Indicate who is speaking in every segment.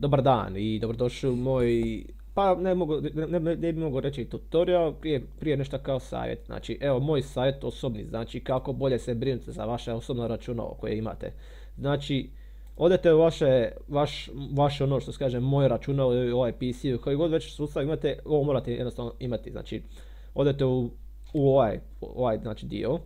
Speaker 1: Dobar dan i dobrodošli u moj, pa ne bi mogao reći tutorial, prije nešto kao savjet. Znači, evo moj savjet osobni, znači kako bolje se brinuti za vaše osobno računalo koje imate. Znači, odete u vaše ono što se kaže moje računalo ili ovaj PC, koji god već sustav imate, ovo morate jednostavno imati. Znači, odete u ovaj znači dio,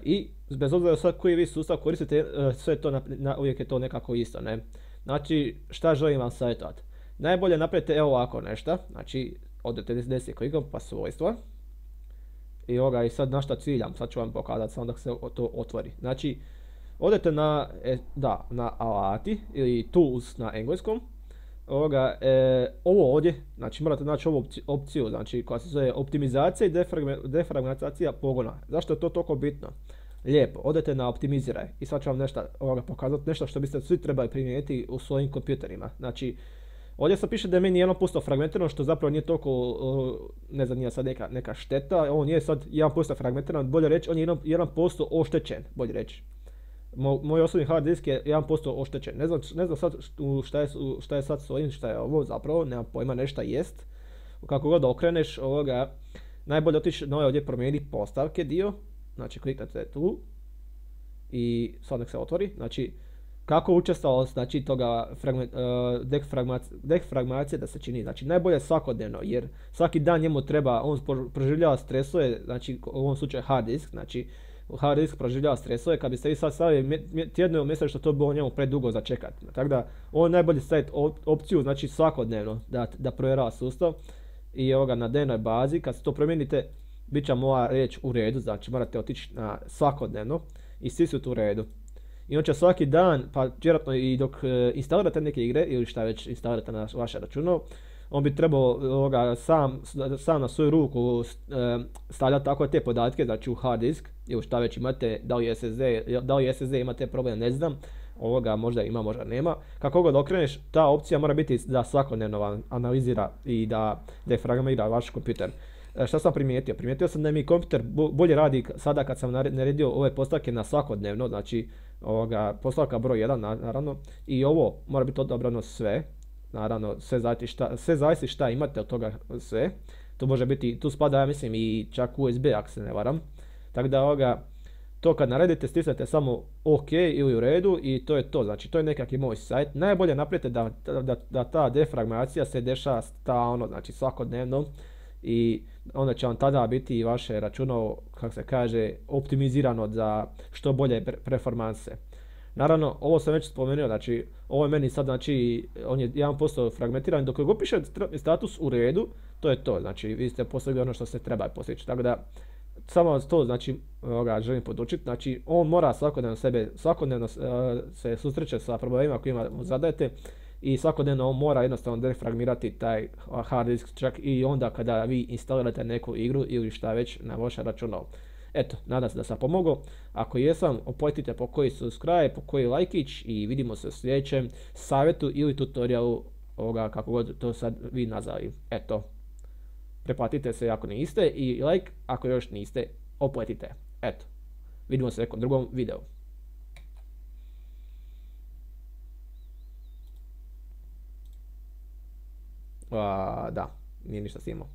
Speaker 1: i bez obzira sad koji vi sustav koristite, sve to uvijek je to nekako isto, ne? Znači, šta želim vam savjetovati? Najbolje napravite evo ovako nešto, znači, odete desni klikom pa svojstva, i sad na šta ciljam, sad ću vam pokazati samo dok se to otvori. Znači, odete na alati ili tools na engleskom, ovo ovdje, znači morate naći ovu opciju, znači koja se zove optimizacija i defragmentacija pogona. Zašto je to toliko bitno? Lijepo, odete na optimiziraj i sad ću vam nešto pokazati, nešto što biste svi trebali primijeniti u svojim kompjuterima. Znači, ovdje se piše da je meni 1% fragmentirano, što zapravo nije toliko, ne znam, nije sad neka šteta, on je sad 1% fragmentiran, bolje reći, on je 1% oštećen, bolje reći. Moj osobni hard disk je 1% oštećen. Ne znam sad šta je sad s ovim, šta je ovo zapravo, nemam pojma, nešto jest. Kako god okreneš najbolje otići na ovdje promijeniti postavke dio. Znači kliknete tu i sad nek se otvori. Znači kako učestalost znači toga defragmacije da se čini. Znači najbolje svakodnevno, jer svaki dan njemu treba, on proživljava stresove, znači u ovom slučaju hard disk, znači hard disk proživljava stresove, kad biste vi sad stavili tjedno mjesečno, što to bilo njemu predugo za čekat. Tako da ovo je najbolje staviti opciju, znači svakodnevno da provjerava sustav i na dnevnoj bazi. Kad se to promijenite, bit će moja riječ u redu, znači morate otići na svakodnevno i svi su tu u redu. Inače svaki dan, pa vjerojatno i dok instalirate neke igre ili šta već instalirate na vaše računalo, on bi trebao sam na svoju ruku stavljati tako te podatke, znači u hard disk ili šta već imate, da li SSD imate problem, ne znam, možda ima, možda nema. Kako god okreneš, ta opcija mora biti da svakodnevno vam analizira i da defragmentira vaš kompjuter. Šta sam primijetio? Primijetio sam da mi kompjuter bolje radi sada kad sam naredio ove postavke na svakodnevno, znači postavka broj 1 naravno, i ovo mora biti odabrano sve. Naravno, sve zavisi šta imate od toga sve. To može biti, tu spada, ja mislim, i čak USB, ako se ne varam. Tako da to kad naredite, stisnete samo OK ili u redu i to je to. Znači, to je nekakvi moj sajt. Najbolje napravite da ta defragmentacija se dešava stalno, znači svakodnevno, i onda će vam tada biti i vaše računalo, kako se kaže, optimizirano za što bolje performanse. Naravno, ovo sam već spomenuo, znači, ovo je meni sad, znači, on je 1% fragmentiran, dok god piše status u redu, to je to, znači, vi ste postigli ono što se treba postići, tako da, samo to, znači, želim podučiti, znači, on mora svakodnevno se susreće sa problemima kojima mu zadajete i svakodnevno on mora jednostavno defragmirati taj hard disk, čak i onda kada vi instalirate neku igru ili šta već na vaše računalo. Eto, nadam se da sam pomogao. Ako jesam, opojtite po koji subscribe, po koji lajkić i vidimo se u sljedećem savjetu ili tutorialu kako god to sad vi nazvali. Eto, preplatite se ako niste i like ako još niste, opojtite. Eto, vidimo se u nekom drugom videu. Da, nije ništa snimao.